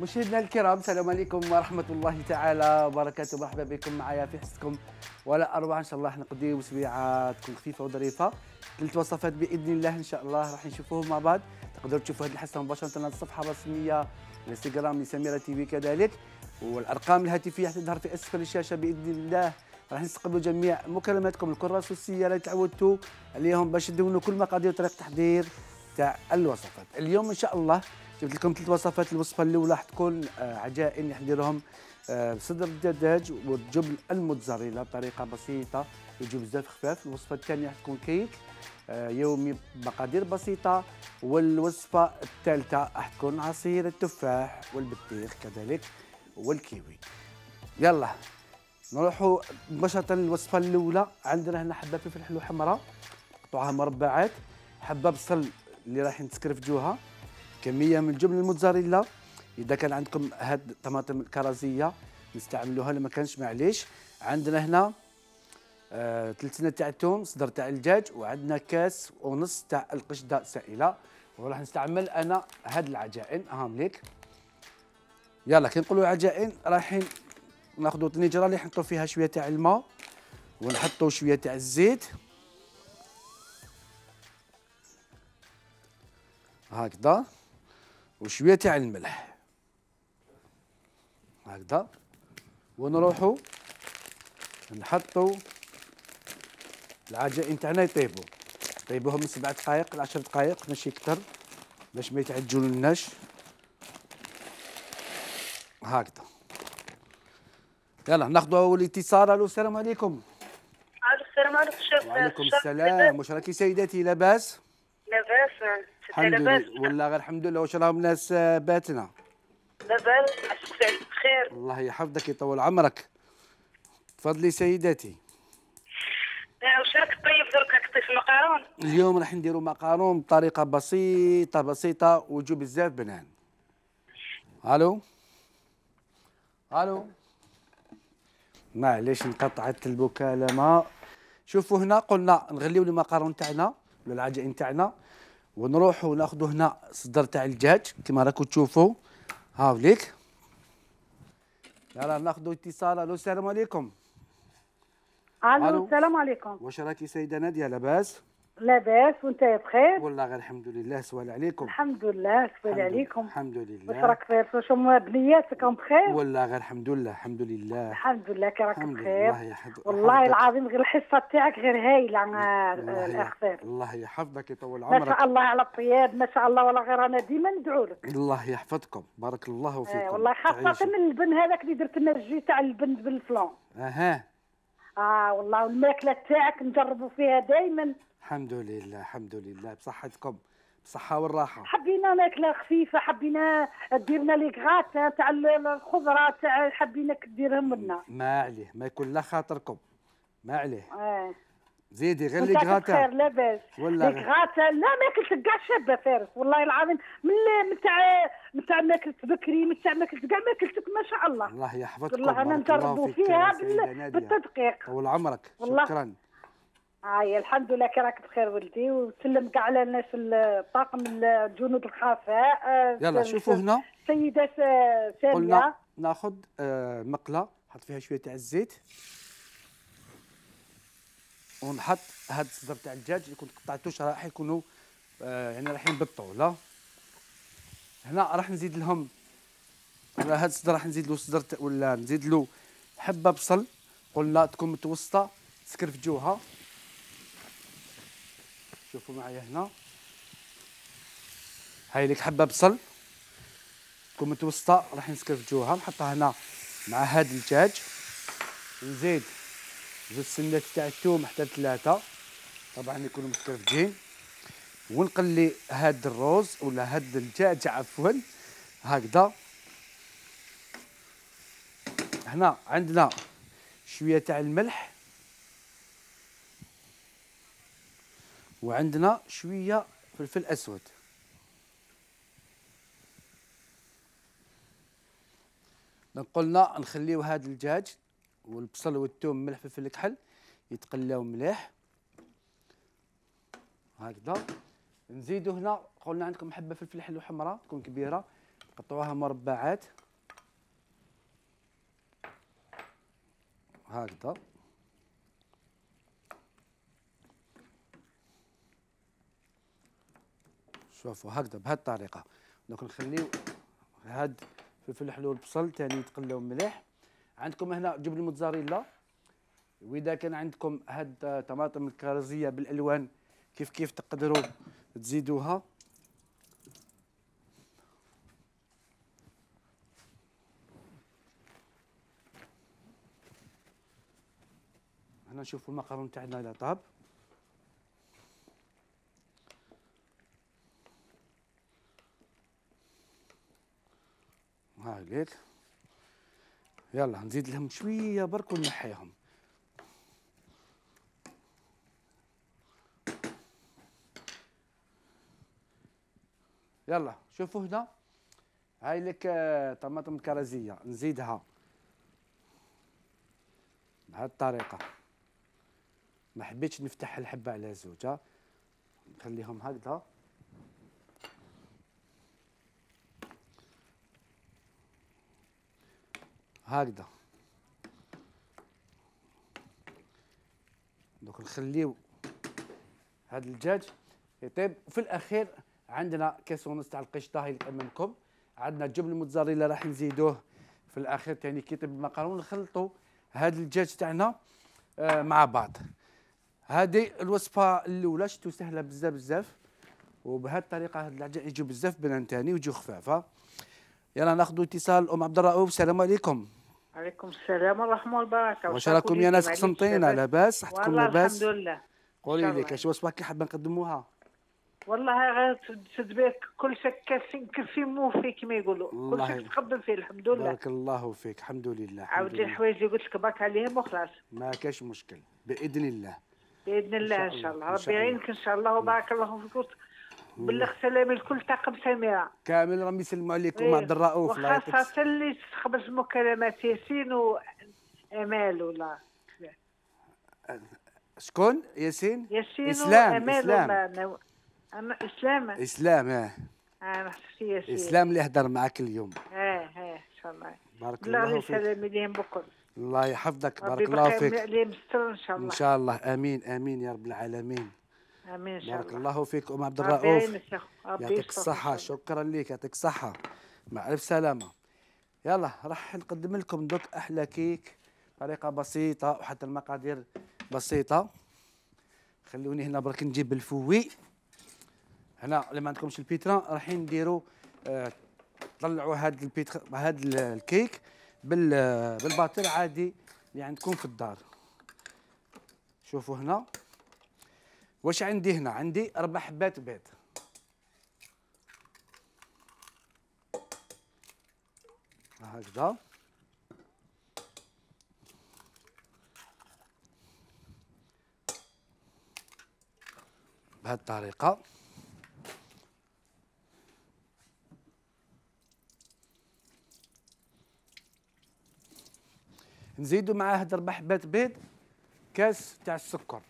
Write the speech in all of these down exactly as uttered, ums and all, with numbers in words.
مشاهدينا الكرام، السلام عليكم ورحمة الله تعالى وبركاته. مرحبا بكم معايا في حصتكم ولا أروع. إن شاء الله راح نقضيو سويعة تكون خفيفة وظريفة. ثلاث وصفات بإذن الله إن شاء الله راح نشوفوهم مع بعض. تقدروا تشوفوا هذه الحصة مباشرة على الصفحة الرسمية الانستغرام لسميرة تي في كذلك، والأرقام الهاتفية حتظهر في أسفل الشاشة بإذن الله. راح نستقبلوا جميع مكالماتكم الكراس والسيارة اللي تعودتوا عليهم باش تدونوا كل مقادير وطريقة تحضير تاع الوصفات. اليوم إن شاء الله جبت لكم ثلاث وصفات. الوصفه الاولى حتكون عجائن راح نديرهم بصدر الدجاج والجبن الموتزاريلا بطريقه بسيطه يجوا بزاف خفاف. الوصفه الثانيه حتكون كيك يومي بمقادير بسيطه. والوصفه الثالثه حتكون عصير التفاح والبطيخ كذلك والكيوي. يلا نروحوا مباشره للوصفه الاولى. عندنا هنا حبه فلفل حلو حمراء قطعوها مربعات، حبه بصل اللي راح نسكرفجوها، كميه من الجبن الموتزاريلا. اذا كان عندكم هاد الطماطم الكرزيه نستعملوها، لما كانش معليش. عندنا هنا آه ثلث تاع الثوم، صدر تاع الدجاج، وعندنا كاس ونص تاع القشده سائله. وراح نستعمل انا هاد العجائن هاهم ليك. يلا كي نقولوا عجائن رايحين ناخذوا طنجره اللي نحطوا فيها شويه تاع الماء ونحطوا شويه تاع الزيت هكذا، وشويه تاع الملح هكذا، ونروحوا نحطوا العجائن تاعنا يطيبوا. طيبوهم من سبع دقائق لعشر دقائق ماشي اكثر باش ما يتعجنولناش هكذا. يلا ناخذوا اول اتصال. الو السلام عليكم. السلام عليكم شيف. وعليكم السلام. واش راكي سيداتي لاباس؟ لاباس الحمد لله والله غير الحمد لله. واش راهم الناس باتنا؟ لاباس عساك سعيد بخير. الله يحفظك يطول عمرك. تفضلي سيداتي. واش راك طيب درك؟ راك طيب المقارون؟ اليوم راح نديروا مقارون بطريقه بسيطه بسيطه ويجوا بزاف بنان. الو الو معليش انقطعت المكالمه. شوفوا هنا قلنا نغليو المقارون تاعنا ولا العجائن تاعنا، ونروحوا ناخذوا هنا صدر تاع الدجاج كما راكم تشوفوا هاوليك. يلا ناخذوا اتصال. الو السلام عليكم. الو السلام عليكم. واش راكي سيده ناديه لاباس؟ لاباس وانت بخير؟ والله غير الحمد لله. سوال عليكم. الحمد لله. سوال عليكم. الحمد لله. واش راك بخير؟ واش هما بنياتكم بخير؟ والله غير الحمد لله. الحمد لله. الحمد لله كي راك بخير. الله يحفظك. والله العظيم غير الحصه تاعك غير هايله الاخ خير. الله يحفظك يطول عمرك. ما شاء الله على الطياب ما شاء الله. والله غير انا ديما ندعو لك. الله يحفظكم. بارك الله فيكم. آه والله خاصه من البن هذاك اللي درت لنا الجي تاع البن بالفلان. اها اه والله والماكله تاعك نجربوا فيها دائما. الحمد لله الحمد لله بصحتكم بالصحه والراحه. حبينا ماكله خفيفه، حبينا ديرنا لي غات تاع الخضره تاع حبيناك ديرهم لنا. ما عليه ما يكون لا خاطركم ما عليه. اه زيدي غير لي غاتا. خير لاباس. ولا لي غاتا لا ماكلت كاع شابه فارس والله العظيم. من من تاع من تاع ماكلت بكري من تاع ماكلت كاع ماكلتك ما شاء الله. الله يحفظكم. والله انا نجربوا فيها بالتدقيق. طول عمرك. شكرا. هاي الحمد لله كي راك بخير ولدي. وسلم كاع على الناس الطاقم الجنود الخفاء. يلا شوفوا هنا السيده ساميه. قلنا ناخذ مقله نحط فيها شويه تاع الزيت ونحط هاد الصدر تاع الدجاج اللي كنت قطعته شرائح يكونوا يعني رايحين بالطول. هنا راح نزيد لهم على هاد الصدر راح نزيد له صدر ولا نزيد له حبه بصل قلنا تكون متوسطه سكرفجوها. شوفوا معايا هنا هاي لك حبه بصل تكون متوسطه راح نسكرفجوها نحطها هنا مع هاد الدجاج. نزيد زوج سنات تاع الثوم حتى ثلاثه طبعا يكونوا مسكرفجين، ونقلي هاد الروز ولا هاد الدجاج عفوا هكذا. هنا عندنا شويه تاع الملح وعندنا شويه فلفل اسود. قلنا نخليو هاد الدجاج والبصل والثوم ملح فلفل كحل يتقلاو مليح هكذا. نزيدو هنا قلنا عندكم حبه فلفل حلو حمراء تكون كبيره قطعوها مربعات هكذا. شوفوا هكذا بهذه الطريقه. دوك نخليو هاد الفلفل الحلو والبصل ثاني يتقلاو مليح. عندكم هنا جبن الموتزاريلا، واذا كان عندكم هاد طماطم الكرزيه بالالوان كيف كيف تقدروا تزيدوها. هنا نشوفوا المقرون تاعنا اذا طاب. هاكيك. يلا نزيد لهم شويه برك ونحيهم. يلا شوفوا هنا هاي لك طماطم كرزيه نزيدها بهذه الطريقه. ما حبيتش نفتح الحبه على زوجها، نخليهم هكذا. هكذا دوك نخليو هذا الدجاج يطيب. وفي الاخير عندنا كاس ونص تاع القشطه هي اللي امامكم. عندنا الجبن الموتزاريلا راح نزيدوه في الاخير ثاني كي يطيب المقرون. نخلطوا هذا الدجاج تاعنا آه مع بعض. هذه الوصفه الاولى شتو سهله بزاف بزاف، وبهذه الطريقه هاد العجائن يجوا بزاف بنان ثاني ويجوا خفافه. يلا ناخذوا اتصال. ام عبد الرؤوف السلام عليكم. عليكم السلام ورحمه والبركه. واش راكم يا ناس قسنطينه؟ لاباس؟ صحتكم لاباس؟ الحمد لله. قولي لي كاش وصفه كي حابه نقدموها؟ والله غير تدبير كل شيء كافي كافي موفي كما يقولوا، كل شيء تقدم فيه الحمد لله. بارك الله فيك. الحمد لله. عاود لي الحوايج اللي قلت لك برك عليهم وخلاص. ما كاش مشكل باذن الله. باذن الله ان شاء الله. ربي يعينك ان شاء الله وبارك الله فيك. بلغ سلامي لكل طاقم سميره كامل. راهم يسلموا عليكم ام عبد الرؤوف. وخاصه اللي تخبز المكالمات ياسين وامال. ولا شكون؟ ياسين؟ ياسين اسلام. وامال. اسلام ولا انا اسلام. اسلام اه انا حسيت ياسين. اسلام اللي هدر معك اليوم. اه اه ان شاء الله. بارك الله فيك. سلامي ليهم بكل. الله يحفظك. بارك الله فيك. عليهم الستر ان شاء الله. ان شاء الله. امين امين يا رب العالمين. امين ان شاء الله. بارك الله فيك ام عبد الرؤوف. ربي يعطيك الصحة. شكرا لك. يعطيك الصحة. مع الف سلامة. يلا راح نقدم لكم دوك احلى كيك طريقة بسيطة وحتى المقادير بسيطة. خلوني هنا برك نجيب الفوي. هنا اللي ما عندكمش البيترا راح نديروا آه طلعوا هذا البيترا هذا الكيك بال بالباطير عادي اللي عندكم في الدار. شوفوا هنا واش عندي. هنا عندي اربع حبات بيض. هكذا. بهذه الطريقة. نزيدوا مع هاد اربع حبات بيض كاس تاع السكر،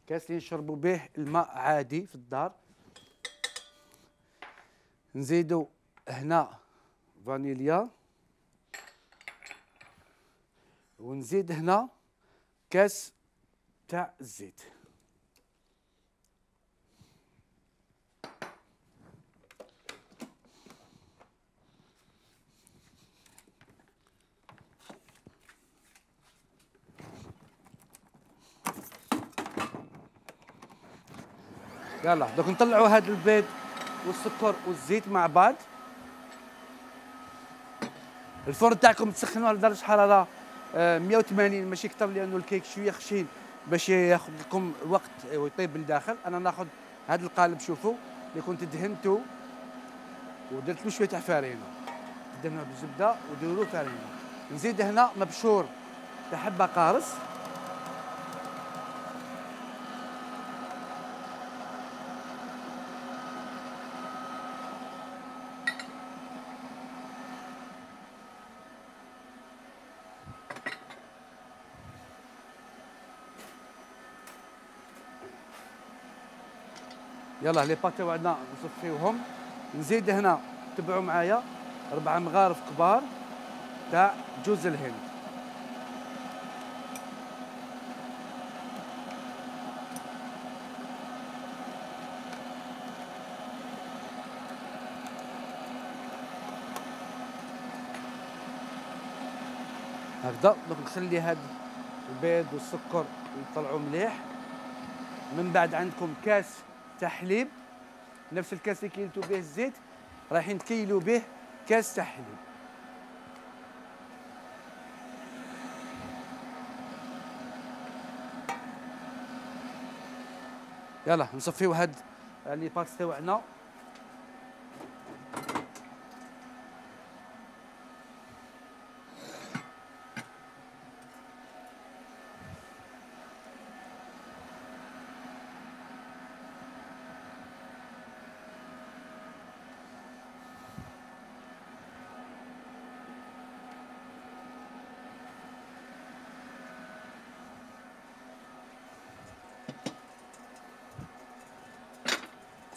كاس اللي نشربوا به الماء عادي في الدار. نزيدوا هنا فانيليا، ونزيد هنا كاس تاع الزيت. يلا دوك نطلعوا هذا البيض والسكر والزيت مع بعض. الفرن تاعكم تسخنوه على درجه حراره مية وثمانين ماشي اكثر، لانه الكيك شويه خشين باش ياخذ لكم وقت ويطيب بالداخل. انا ناخذ هذا القالب شوفوا اللي كنت دهنته ودرت له شويه تاع فارينه، دهنوه بالزبده وديروا له فارينه. نزيد هنا مبشور تاع حبه قارص، يلا لي باتي وعندنا نصفيوهم. نزيد هنا تبعوا معايا ربعة مغارف كبار تاع جوز الهند. هكذا دونك نخلي هاد البيض والسكر يطلعوا مليح. من بعد عندكم كاس تاع حليب، نفس الكاس اللي كيلتو به الزيت رايحين تكيلوا به كاس تاع حليب. يلا نصفيو هاد لي بات تاعنا.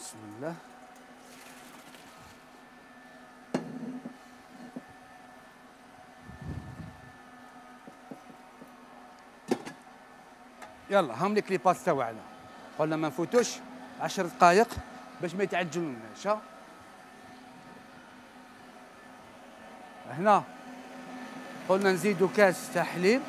بسم الله. يلا هم لك لي باس تاعنا، قلنا ما نفوتوش عشر دقائق باش ما يتعجنوناش. ها هنا قلنا نزيدو كاس تاع حليب،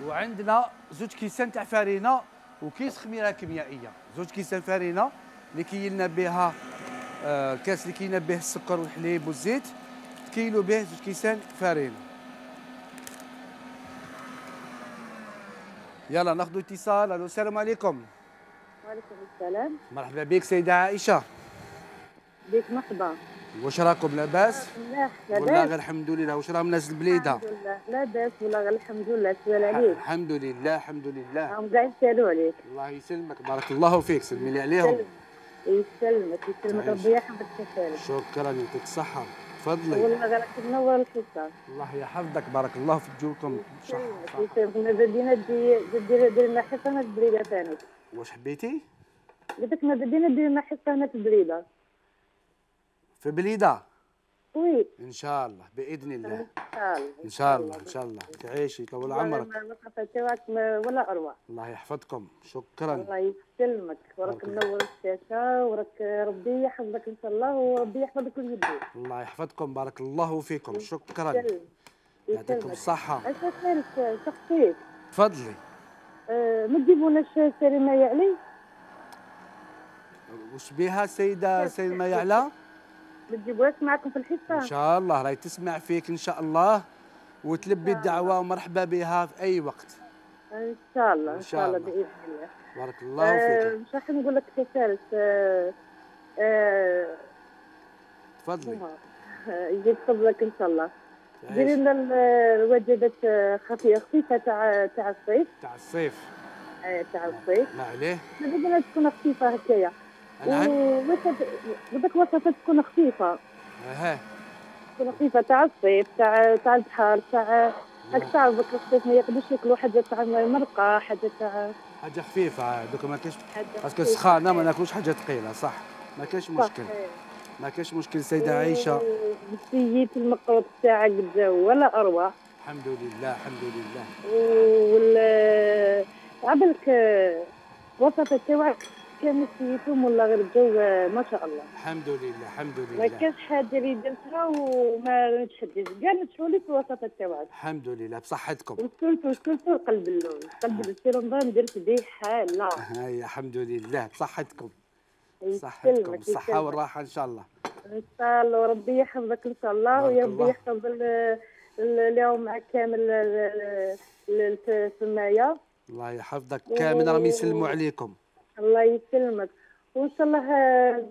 وعندنا زوج كيسان تاع فارينه وكيس خميره كيميائيه. زوج كيسان فارينه اللي كيلنا بها آه الكاس اللي كيلنا به السكر والحليب والزيت، كيلو به زوج كيسان فارينه. يلا ناخذ اتصال. الو السلام عليكم. وعليكم السلام. مرحبا بك سيده عائشه. بك مرحبا. واش راكم لاباس؟ ملاح والله لاباس. غير الحمد لله. واش راهم الناس البليده؟ الحمد لله لاباس والله غير الحمد لله. سؤال عليك. الحمد لله الحمد لله. راهم كاع يسالوا عليك. الله يسلمك بارك الله فيك. سلمي لي عليهم. يسلمك يسلمك ربي يحفظك كثير. شكرا يعطيك الصحه. تفضلي. والله غير راك تنور الحصه. الله يحفظك بارك الله في جوكم. يسلمك يسلمك. بدينا دير دير لنا حصه هنا في البليده ثاني. واش حبيتي؟ قلت لك ما بدينا دير لنا حصه هنا في البليده. في بليده؟ وي ان شاء الله باذن الله. ان شاء الله ان شاء الله ان شاء الله تعيشي طول عمرك. الوقفه تاعك ولا اروع. الله يحفظكم. شكرا. الله يسلمك وراك منور الشاشه وراك ربي يحفظك ان شاء الله وربي يحفظك اليدين. الله يحفظكم بارك الله فيكم. شكرا. يسلمك. يعطيكم الصحه. اش خير شخصيك. تفضلي. أه ما تجيبوناش سلمى يعلي؟ وش بها سيده سلمى يعلى؟ ما تجيبوهاش معكم في الحصه؟ ان شاء الله راهي تسمع فيك ان شاء الله وتلبي الدعوه ومرحبا بها في اي وقت. ان شاء الله ان شاء الله باذن الله. بارك الله فيك. مش راح نقول لك يا فارس. أه أه تفضلي. يجيب فضلك ان شاء الله. ديري لنا الوجبات خفيفه خفيفه تاع تاع الصيف. تاع الصيف. ايه تاع الصيف. ما عليه. بدنا تكون خفيفه هكايا. نعم. بدك وصفات تكون خفيفه. اها. تكون خفيفه تاع الصيف تاع تاع البحر تاع هاك تعرفك الصيف ما يقدرش ياكلوا حاجه تاع مرقه حاجه تاع حاجه خفيفه. دوك ما كاينش باسكو سخانه ما ناكلوش حاجه ثقيله. صح ما كاينش مشكل. ما كاينش مشكل سيده عائشه. سييت المقروط تاعك الجو ولا اروع. الحمد لله الحمد لله. وال عبالك وصفة تاعك كان سيتهم ولا غير الجو ما شاء الله. الحمد لله الحمد لله. ما كانش حاجه اللي درتها وما نتشدش كاع نتشوا لي في الوصفات تاعك. الحمد لله بصحتكم. وصلت وصلت قلب اللون قلب في رمضان درت به حاله. هاي الحمد لله بصحتكم. صحتكم الصحه والراحه ان شاء الله. ان شاء الله وربي يحفظك ان شاء الله ويا ربي يحفظ اليوم معك كامل السمايه. الله يحفظك كامل راهم يسلموا عليكم. الله يسلمك وان شاء الله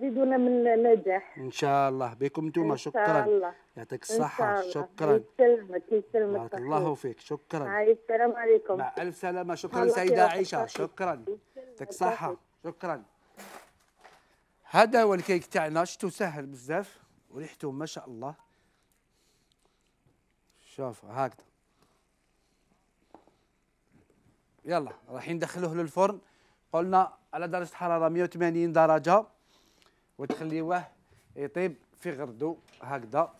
زيدونا من النجاح. ان شاء الله بكم انتم. شكرا. ان شاء الله. يعطيك الصحه. شكرا. يسلمك يسلمك. بارك الله فيك. شكرا. هاي السلام عليكم. مع الف سلامه. شكرا سيده عائشه. شكرا. يعطيك الصحه. شكرا. هذا هو الكيك تاعنا. شتو سهل بزاف وريحته ما شاء الله. شوف هكذا. يلا رايحين ندخلوه للفرن قلنا على درجة حرارة مئة وثمانين درجة، وتخليوه يطيب في غردو هكذا،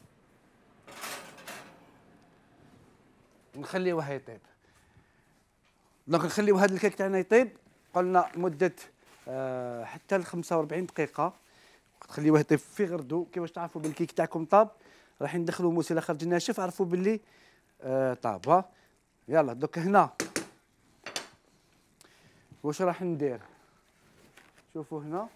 ونخليوه يطيب. دونك نخليو هذا الكيك تاعنا يطيب قلنا مدة آه حتى ل خمسة وأربعين دقيقة، تخليوه يطيب في غردو. كيفاش تعرفوا بالكيك تاعكم طاب؟ راح ندخلوا موس الى خرج ناشف، عرفوا باللي آه طاب. يلا دوك هنا واش راح ندير؟ شوفوا هنا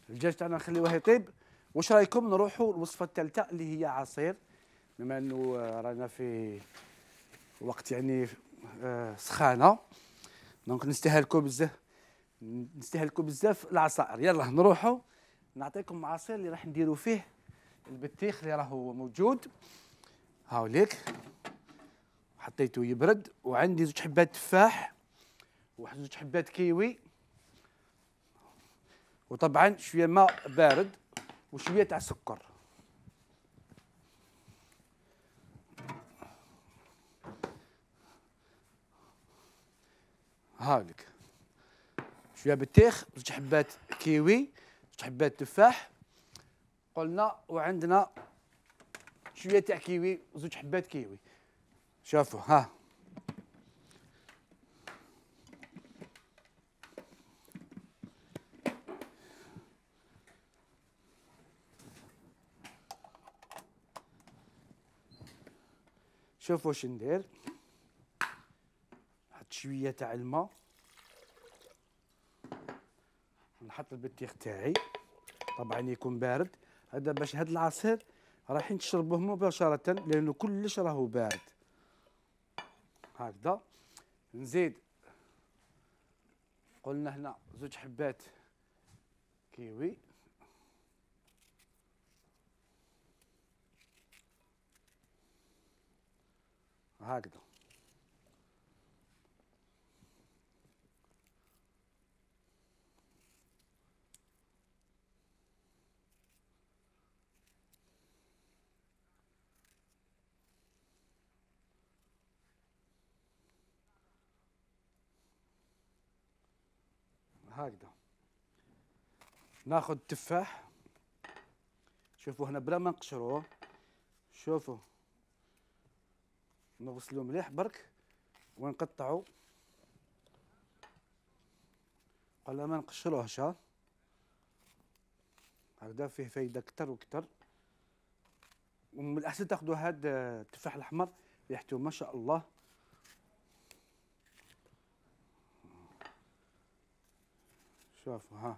الدجاج تاعنا نخليوه يطيب. واش رايكم نروحوا للوصفه الثالثه اللي هي عصير، بما انه رانا في وقت يعني آه سخانه، دونك نستهلكوا بزاف نستهلكوا بزاف العصائر. يلا نروحوا نعطيكم عصير اللي راح نديروا فيه البطيخ اللي راهو موجود هاوليك، حطيته يبرد، وعندي زوج حبات تفاح وواحد زوج حبات كيوي، وطبعا شويه ماء بارد وشويه تاع سكر. هاوليك شويه بطيخ، زوج حبات كيوي، زوج حبات تفاح قلنا، وعندنا شويه تاع كيوي، زوج حبات كيوي. شوفوا ها شوفوا واش ندير. نحط شويه تاع الماء، نحط البطيخ تاعي طبعا يكون بارد، هذا باش هذا العصير رايحين تشربوه مباشره لانه كلش راهو بارد. هكذا نزيد قلنا هنا زوج حبات كيوي، هكذا هكذا ناخذ تفاح. شوفوا هنا بلا ما نقشروه، شوفوا نغسلوه مليح برك ونقطعوا قبل ما نقشروهش. هكذا فيه فايده كتر وكتر، ومن الاحسن تاخذوا هذا التفاح الاحمر ريحته ما شاء الله. شوفوا ها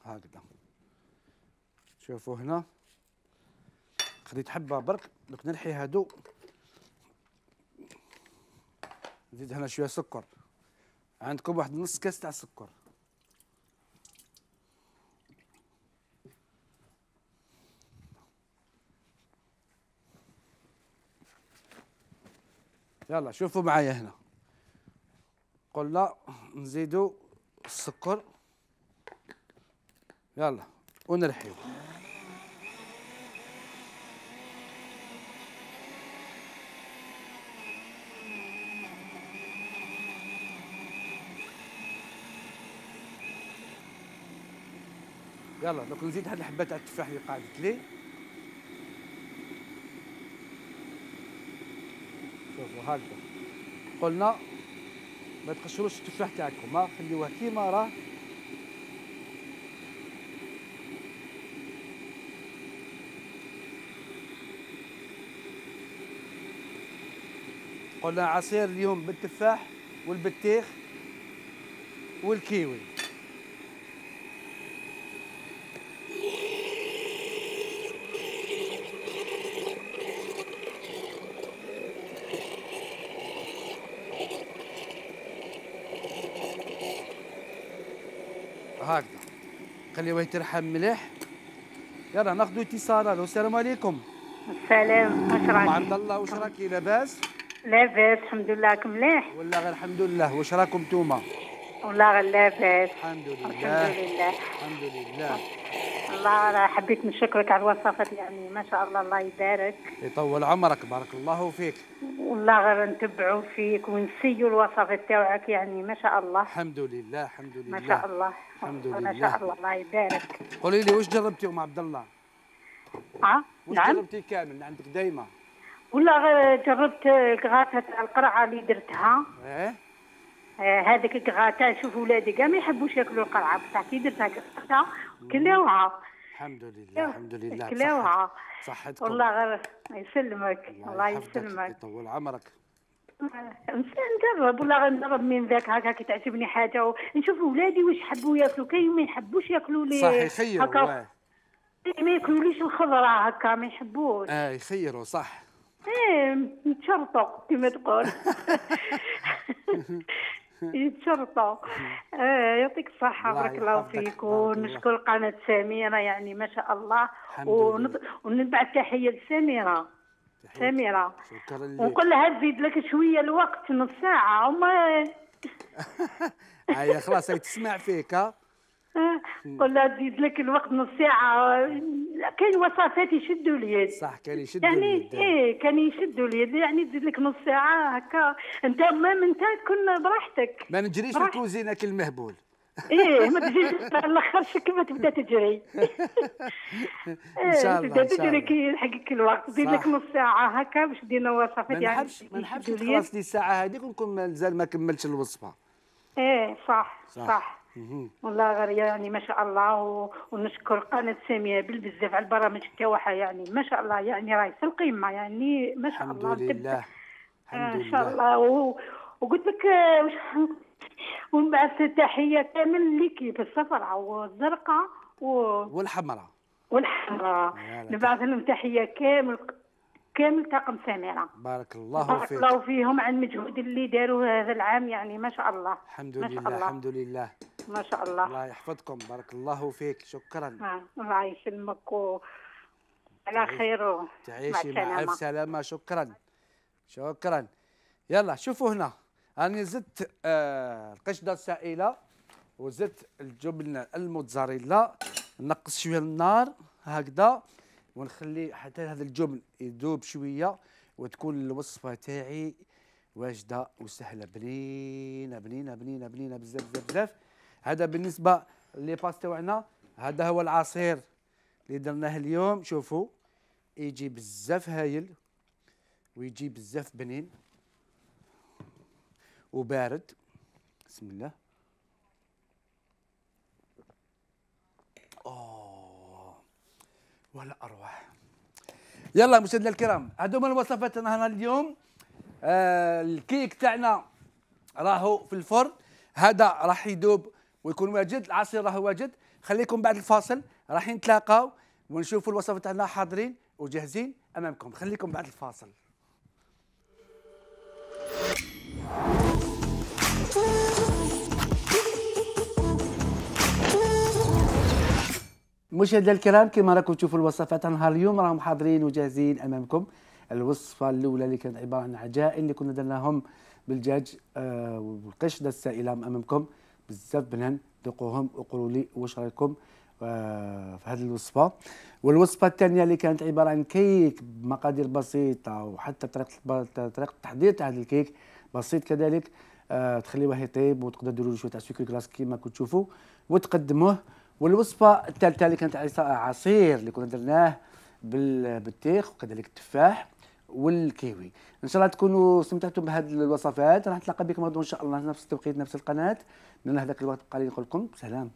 هكذا، شوفوا هنا خديت حبه برك، دوك نلحي هادو، نزيد هنا شويه سكر، عندكم واحد نص كاس تاع سكر. يلا شوفوا معايا هنا، قلنا نزيدوا السكر، يلا ونرحيو. يلا دوك نزيد هاد الحبه تاع التفاح اللي قعدت لي. شوفوا هكذا قلنا ما تقشروش التفاح تاعكم، ها خليوه كيما راه. قلنا عصير اليوم بالتفاح والبطيخ والكيوي. هكذا خليوه يترحم مليح. يلا ناخذ اتصال. السلام عليكم. السلام، واش راكي؟ عبد الله واش راكي لاباس؟ لاباس الحمد لله، راكم مليح؟ ولا غير الحمد لله؟ واش راكم نتوما؟ والله غير لاباس الحمد لله الحمد لله الحمد لله. الله راه حبيت نشكرك على الوصفات، يعني ما شاء الله الله يبارك. يطول عمرك، بارك الله فيك. والله غير نتبعوا فيك ونسيوا الوصفات تاعك، يعني ما شاء الله. الحمد لله الحمد لله ما شاء الله. الحمد ما لله. شاء الله الله يبارك. قولي لي واش جربتي ام عبد الله؟ اه واش نعم. جربتي كامل عندك دايما؟ والله غير جربت غاثة القرعه اللي درتها. ايه آه هذيك غاثة، شوف ولادي كاع ما يحبوش ياكلوا القرعه بصح كي درتها غاثة كلاوها. الحمد لله الحمد لله. كلاوها صحتكم. والله غير يسلمك الله يسلمك. يطول عمرك. نجرب والله غنجرب من ذاك هكا كي تعجبني حاجه ونشوف ولادي واش يحبوا ياكلوا، كاين ما يحبوش ياكلوا لي صح يخيروا هكا، ما ياكلوليش الخضره هكا ما يحبوش. اه يخيروا صح. ايه يتشرطوا كما تقول. يتشرطوا. آه يعطيك الصحة بارك الله فيك، ونشكر قناة سميرة يعني ما شاء الله، ونبعث تحية لسميرة. سميرة شكرا لك. ونقول لها تزيد لك شوية الوقت نص ساعة وما. هيا خلاص هي تسمع فيك. ها قول لها تزيد لك الوقت نص ساعة، كاين وصفات يشدوا اليد. صح كان يشدوا يعني اليد. ايه كان يشدوا اليد، يعني تزيد لك نص ساعة هكا، انت ما انت تكون براحتك. ما نجريش في الكوزينة كالمهبول. ايه ما تجيش على الاخر كيما تبدا تجري. ان شاء الله تبدا تجري كي يلحقك الوقت، تزيد لك نص ساعة هكا باش دينا وصفات. يعني ما نحبش ما نحبش تخلص لي الساعة هذيك ونكون مازال ما كملتش الوصفة. ايه صح صح, صح. والله غير يعني ما شاء الله، و... ونشكر قناة سامية بالبزاف على البرامج تاعها، يعني ما شاء الله يعني راهي في القمة، يعني ما شاء الله. الحمد لله الحمد لله ان شاء الله. و... وقلت لك وش ونبعث تحية كامل ليكيب الصفراء والزرقاء و... والحمراء والحمراء، نبعث لهم تحية كامل كامل طاقم سميرة. بارك الله فيك. بارك الله فيهم على المجهود اللي داروا هذا العام، يعني ما شاء الله. الحمد لله الحمد لله ما شاء الله. الله يحفظكم بارك الله فيك. شكرا. آه. الله يسلمك و... على خير. تعيشي مع الف سلامة. شكرا شكرا. يلا شوفوا هنا أنا زدت آه القشدة السائلة وزدت الجبن الموتزاريلا، نقص شوية النار هكذا ونخلي حتى هذا الجبن يذوب شوية وتكون الوصفة تاعي واجدة وسهلة بنينة بنينة بنينة بنينة بزاف بزاف بزاف. هذا بالنسبة لي باس تاعنا. هذا هو العصير اللي درناه اليوم. شوفوا يجي بزاف هايل ويجي بزاف بنين وبارد. بسم الله. اوه ولا اروع. يلا مشاهدينا الكرام هذو من الوصفات نهارنا اليوم. آه الكيك تاعنا راهو في الفرن، هذا راح يذوب ويكون واجد، العصير راهو واجد. خليكم بعد الفاصل راح نتلاقاو ونشوفوا الوصفات تاعنا حاضرين وجاهزين امامكم. خليكم بعد الفاصل. مشاهدينا الكرام كما راكم تشوفوا الوصفات نهار اليوم راهم حاضرين وجاهزين امامكم. الوصفه الاولى اللي كانت عباره عن عجائن اللي كنا درناهم بالدجاج آه والقشده السائله امامكم بزاف بنان. ذوقوهم وقولوا لي واش رايكم آه في هذه الوصفه. والوصفه الثانيه اللي كانت عباره عن كيك بمقادير بسيطه وحتى طريقه طريقه التحضير تاع هذا الكيك بسيط كذلك. آه تخليوه يطيب وتقدروا ديروا له شويه تاع سكر كلاص كيما كنتوا تشوفوا وتقدموه. والوصفه الثالثه اللي كانت عصير اللي كنا درناه بالبطيخ وكذلك التفاح والكيوي. ان شاء الله تكونوا استمتعتم بهذه الوصفات. راح نتلاقى بكم غدوه ان شاء الله نفس التوقيت نفس القناه. من هذاك الوقت بقى لي نقول لكم سلام.